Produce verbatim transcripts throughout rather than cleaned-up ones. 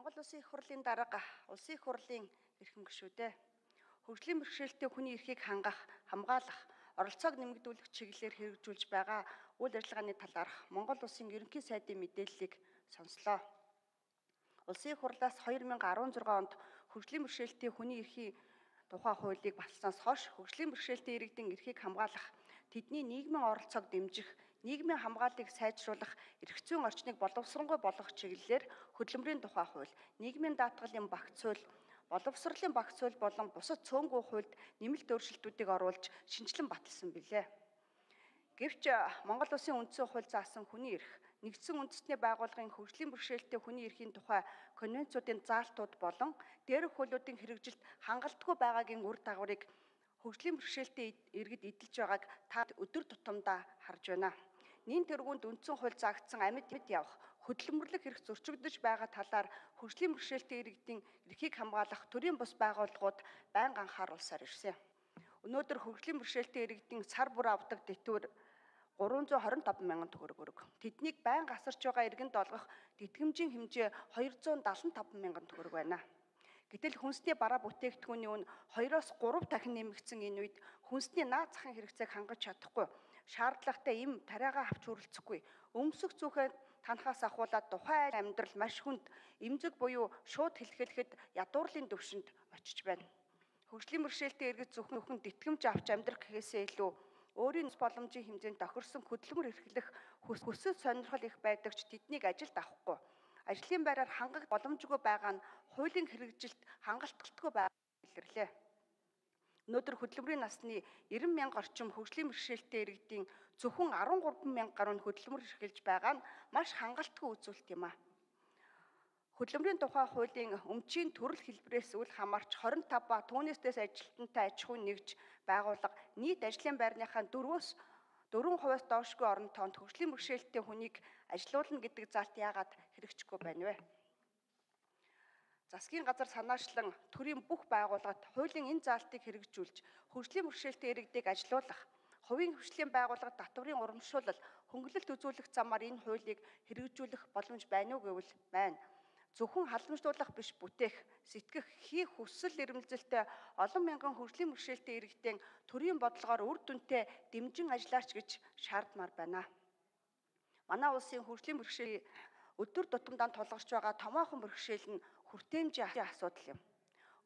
Монгол Улсын их хурлын дарга Улсын их хурлын эрхэм гишүүдээ хөгжлийн бэрхшээлтэй хүний эрхийг хангах, хамгаалах, оролцоог нэмэгдүүлэх чиглэлээр хэрэгжүүлж байгаа үйл ажиллагааны талаарх Монгол Улсын ерөнхий сайдын мэдээллийг сонслоо. Улсын их хурлаас хоёр мянган арван зургаан онд хөгжлийн бэрхшээлтэй хүний эрхийн тухай хуулийг баталснаас хойш хөгжлийн бэрхшээлтэй иргэдийн эрхийг хамгаалах, тэдний нийгмийн оролцоог дэмжих, нийгмийн хамгааллыг сайжруулах, эрх зүйн орчныг боловсронгуй болгох чиглэлээр хөдөлмөрийн тухай хууль, нийгмийн даатгалын багц хууль, боловсролын багц хууль болон бусад цөөнгүй хуульд нэмэлт өөрчлөлтүүдийг оруулж шинжилэн баталсан билээ. Гэвч Монгол Улсын үндсэн хууль заасан хүний эрх, нэгдсэн үндэстний байгууллагын хөгжлийн бэрхшээлтэй хүний эрхийн тухай конвенцуудын заалтууд болон дээрх хуулиудын хэрэгжилт хангалтгүй байгаагийн үр дагаврыг хөгжлийн бэрхшээлтэй иргэд эдэлж байгааг та өдөр тутамдаа харж байна. Нин тэргуунд үндсэн хууль заагдсан амьд явах, хөдөлмөрлөх эрх зөрчигдөж байгаа талаар хөгжлийн бэрхшээлтэй иргэдийн эрхийг хамгаалах төрийн бус байгууллагууд байнга анхааруулсаар ирсэн. Өнөөдөр хөгжлийн бэрхшээлтэй иргэдийн сар бүр авдаг дэтгэвэр гурван зуун хорин таван мянган төгрөг өрг. Тэднийг байнга асарч байгаа иргэнд олгох тэтгэмжийн хэмжээ хоёр зуун дадлан таван мянган төгрөг байна. Гэтэл хүнсний бараа бүтээгдэхүүний үн хоёроос гурав дахин нэмэгдсэн энэ үед хүнсний наад захын хэрэгцээг хангаж чадахгүй, шаардлагатай им тариагаа авч хүрэлцэхгүй, өмсөх зүхээ танахаас ахуулаад тухайн амьдрал маш хүнд, эмзэг буюу шууд хэлхэлэхэд ядуурлын дэвшинд очиж байна. Хөгжлийн бэрхшээлтэй иргэд зөвхөн тэтгэмж авч амьдрах гэхээсээ илүү өөрийн боломжийн хэмжээнд тохирсон хөдөлмөр эрхлэх хүсэл сонирхол их байдаг ч тэднийг ажилд авахгүй. Ажлын байраар хангах боломжгүй байгаа нь хуулийн хэрэгжилт хангалтгүй байгааг илэрлээ. Өнөөдөр хөдөлмөрийн насны найман мянга орчим хөгжлийн бэрхшээлтэй иргэдийн зөвхөн арван гурван мянга гаруй хөдөлмөр эрхэлж байгаа нь маш хангалтгүй үзүүлэлт юм а. Хөдөлмөрийн тухай хуулийн өмчийн төрөл хэлбэрээс үл хамаарч хорин тав ба түүнээс дэс ажилтнтай аж ахуйн нэгж байгууллага нийт ажлын байрныхаа дөрвөөс дөрвөн хувиас доошгүй орон тоонд хөгжлийн бэрхшээлтэй хүнийг ажилуулна гэдэг заалт яагаад хэрэгжихгүй байна вэ? Засгийн газар санаачлан төрийн бүх байгууллагад хуулийн энэ заалтыг хэрэгжүүлж хөгжлийн бэрхшээлтэй иргэдийг ажилуулах, хувийн хөгжлийн байгууллага татврын урамшуулал, хөнгөлөлт үзүүлэх замаар энэ хуулийг хэрэгжүүлэх боломж байна уу гэвэл байна. Зөвхөн халамжлуулах биш бүтээх, сэтгэх, хийх хүсэл эрмэлзэлтэй олон мянган хөгжлийн бэрхшээлтэй иргэдийн төрийн бодлогоор үр дүнтэй дэмжин ажиллаач гэж шаардмаар байна. Манай улсын хөгжлийн бэрхшээл өдөр тутамдаа тулгарч байгаа томоохон бэрхшээл нь хүртээмжийн асуудал юм.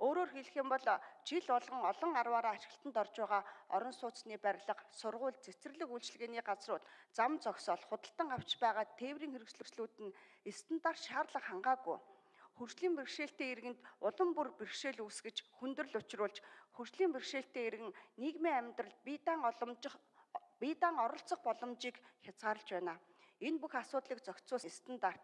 Өөрөөр хэлэх юм бол жил болгон олон арваараа ажилтнанд орж байгаа орон сууцны барилга, сургууль, цэцэрлэг үйлчилгээний газрууд, зам зогсоол, худалдан авч байгаа тээврийн хэрэгслүүд нь стандарт шаардлага хангаагүй. Хөгжлийн бэрхшээлтэй иргэнд улам бүр бэрхшээл үүсгэж хүндрэл учруулж хөгжлийн бэрхшээлтэй иргэн нийгмийн амьдралд бие даан оломжих бие даан оролцох боломжийг хязгаарлаж байна. Энэ бүх асуудлыг зохицуулах стандарт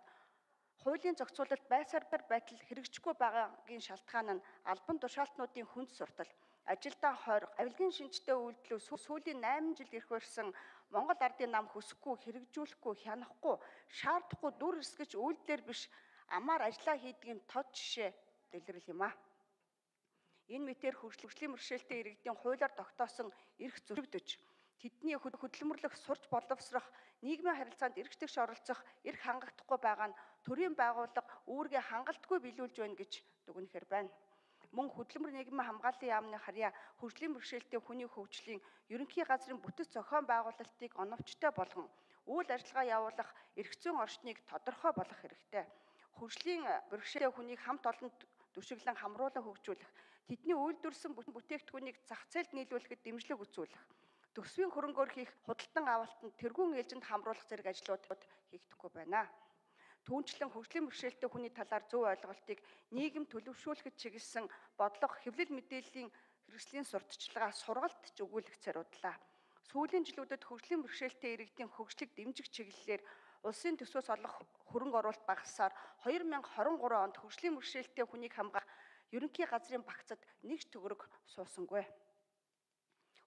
хуулийн зохицуулалт байсаар байтал хэрэгжихгүй байгаагийн шалтгаан нь албан тушаалтнуудын хүнд суртал, ажилдаа хойрог, авилгын шинжтэй үйлдэлүүд сүүлийн найман жил ирэх барьсан Монгол ардын нам хүсэхгүй, хэрэгжүүлэхгүй, хянахгүй, шаардахгүй дүр эсгэж үйлдэлэр биш амаар ажиллаа хийдгийн тод жишээ дэлгэрэл юм а. Энэ мэтээр хөгжлийн бэрхшээлтэй иргэдийн хуулиар тогтоосон эрх зөрчигдөж, тэдний хөдөлмөрлөх, сурч боловсрох, нийгмийн харилцаанд эрх тэгш оролцох эрх хангахдахгүй байгаа нь төрийн байгууллага үүргээ хангалтгүй биелүүлж байна гэж дүгнэхээр байна. Мөн хөдөлмөр нийгмийн хамгааллын яамны харьяа хөгжлийн бэрхшээлтэй хүний хөгжлийн ерөнхий газрын бүтэц зохион байгуулалтыг оновчтой болгон үйл ажиллагаа явуулах эрх зүйн орчныг тодорхой болгох хэрэгтэй. Хөгжлийн бэрхшээлтэй хүнийг хамт олонд түшиглэн хамруулан хөгжүүлэх, тэдний үйлдвэрлэсэн бүтээгдэхүүнийг зах зээлд нийлүүлэхэд дэмжлэг үзүүлэх, төсвийн хөрөнгөөр хийх худалдан авалтанд тэргуун ээлжинд хамруулах зэрэг ажлууд хийгдэхгүй байна. Түүнчлэн хөгжлийн бэрхшээлтэй хүний талаар зөв ойлголтыг нийгэм төлөвшүүлэхэд чиглэсэн бодлого хэвлэл мэдээллийн хэрэгслийн сурталчилгаа сургалт ч өгүүлэх зориудлаа. Сүүлийн жилүүдэд хөгжлийн бэрхшээлтэй иргэдийн хөгжлийг дэмжих чиглэлээр улсын төсвөөс олох хөрөнгө оруулалт багасаар хоёр мянган хорин гурван онд хөгжлийн бэрхшээлтэй хүнийг хамгаах ерөнхий газрын багцад нэг ч төгрөг суусангүй.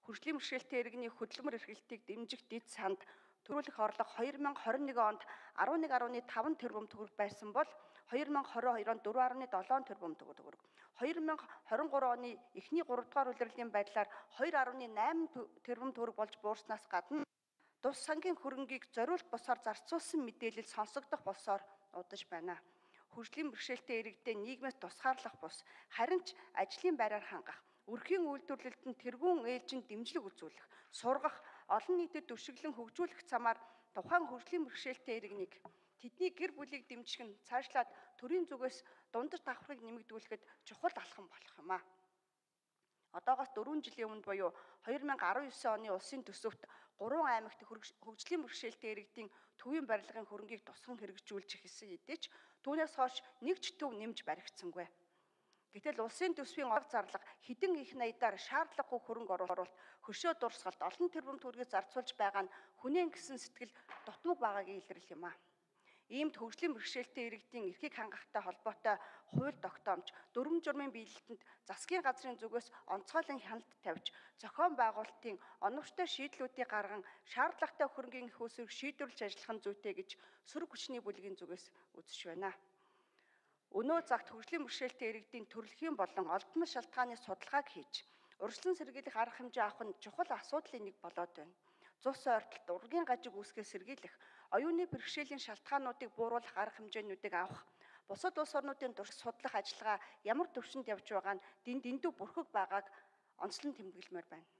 Хөгжлийн бэрхшээлтэй иргэний хөдөлмөр эрхлэлтийг дэмжих дэд санд төрүүлэх орлого хоёр мянган хорин нэгэн онд арван нэг гаруй таван тэрбум төгрөг байсан бол хоёр мянган хорин хоёр онд дөрвөн гаруй долоон тэрбум төгрөг. хоёр мянган хорин гурван оны эхний гурав дахь улирлын байдлаар хоёр гаруй найман тэрбум төгрөг болж буурснаас гадна тус сангийн хөрөнгийг зориулт босоор зарцуулсан мэдээлэл сонсогдох болсоор удаж байна. хөгжлийн бэрхшээлтэй иргэдэд нийгмээс тусгаарлах бус харин ч ажлын байраар хангах, өрхийн үйлдвэрлэлд нь тэргүүн ээлжинд дэмжлэг үзүүлэх, сургах, олон нийтэд түшиглэн хөгжүүлэх замаар тухайн хөгжлийн бэрхшээлтэй иргэнийг тэдний гэр бүлийг дэмжих нь цаашлаад төрийн зүгээс дундаж давхрыг нэмэгдүүлэхэд чухал алхам болох юм а. Одоогоос дөрвөн жилийн өмнө буюу хоёр мянган арван девять оны улсын төсөвт гурван аймагт хөгжлийн бэрхшээлтэй иргэдийн төвийн барилгын хөрөнгийг тусган хэрэгжүүлж эхэлсэн хэдий ч түүнээс хойш нэг ч төв нэмж баригдсангүй. Гэтэл улсын төсвийн орг зарлага хэдэн их наядаар шаардлагагүй хөрөнгө оруулалт, хөшөө дурсгалт, олон тэрбум төгрөгийг зарцуулж байгаа нь хүнээн гэсэн сэтгэл дутмаг байгаагийн илрэл юм а. Иймд хөгжлийн бэрхшээлтэй иргэдийн эрхийг хангахтай холбоотой хууль тогтоомж, дүрм журмын биелэлтэнд засгийн газрын зүгээс онцгойлон хяналт тавьж, зохион байгуулалтын оновчтой шийдлүүдийг гарган шаардлагатай хөрөнгийн их усыг шийдвэрлэж ажиллах нь зүйтэй гэж сөрөг хүчний бүлгийн зүгээс үзэж байна. Өнөө цагт хөгжлийн бэрхшээлтэй иргэдийн төрөлхийн болон олдмол шалтгааны судалгааг хийж, урьдчилан сэргийлэх арга хэмжээ авах нь чухал асуудлын нэг болоод байна. Цус ойртолт, ургийн гажиг үүсгэж сэргийлэх, оюуны бэрхшээлийн шалтгаануудыг бууруулах арга хэмжээнүүдийг авах, бусад улс орнуудын турш судлах ажиллагаа ямар төвшөнд явж байгаа нь дэндүү бүрхэг байгааг онцлон тэмдэглэмээр байна.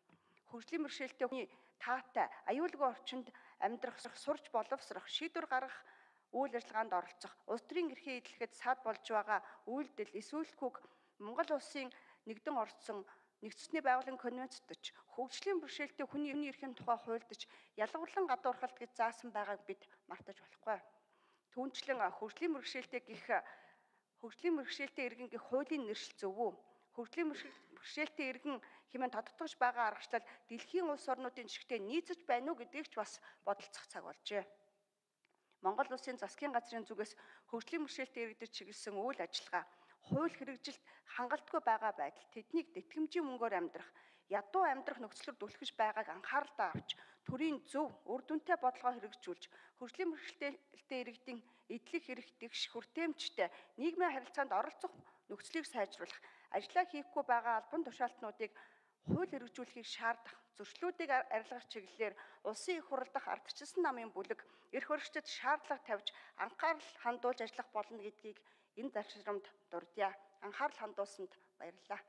Хөгжлийн бэрхшээлтэй хүний таатай, аюулгүй орчинд амьдрах, сурч боловсрох, шийдвэр гаргах үйл ажиллагаанд оролцох, улс төрийн эрхээ эзлэхэд сад болж байгаа үйлдэл, эсвэлхүүг Монгол улсын нэгдэн орцсон нэгдсэний байгууллагын конвенцт ч хөгжлийн бэрхшээлтэй хүний эрхийн тухай хуульд ч ялгарлан гадуурхалт гэж заасан байгааг бид мартаж болохгүй. Түүнчлэн хөгжлийн бэрхшээлтэй гэх хөгжлийн бэрхшээлтэй иргэн гэх хуулийн нэршил зөв үү? Хөгжлийн бэрхшээлтэй иргэн хэмээн тодтогдож байгаа аргачлал дэлхийн улс орнуудын жишгтээ нийцэж байна уу гэдгийг ч бас бодолцох цаг болжээ. Монгол улсын засгийн газрын зүгээс хөгжлийн бэрхшээлтэй иргэдэд чиглэсэн үйл ажиллагаа, хууль хэрэгжилт хангалтгүй байгаа байдал, тэднийг тэтгэмжийн мөнгөөр амьдрах, ядуу амьдрах нөхцөлөөр түлхэж байгааг анхааралтай авч, төрийн зөв, үр дүнтэй бодлогоо хэрэгжүүлж, хөгжлийн бэрхшээлтэй иргэдийн эдлэх эрх дэгш хүртээмжтэй нийгмийн харилцаанд оролцох нөхцөлийг сайжруулах, ажиллаа хийхгүй байгаа албан тушаалтнуудыг хууль хэрэгжүүлэхийг шаардах, зөрчлүүдийг арилгах чиглэлээр улсын их хурл дахь ардчилсан намын бүлэг эрх баригчдад шаардлага тавьж анхаарал хандуулж ажиллах болно гэдгийг энэ зарчрамд дурдъя. Анхаарал хандуулсанд баярлалаа.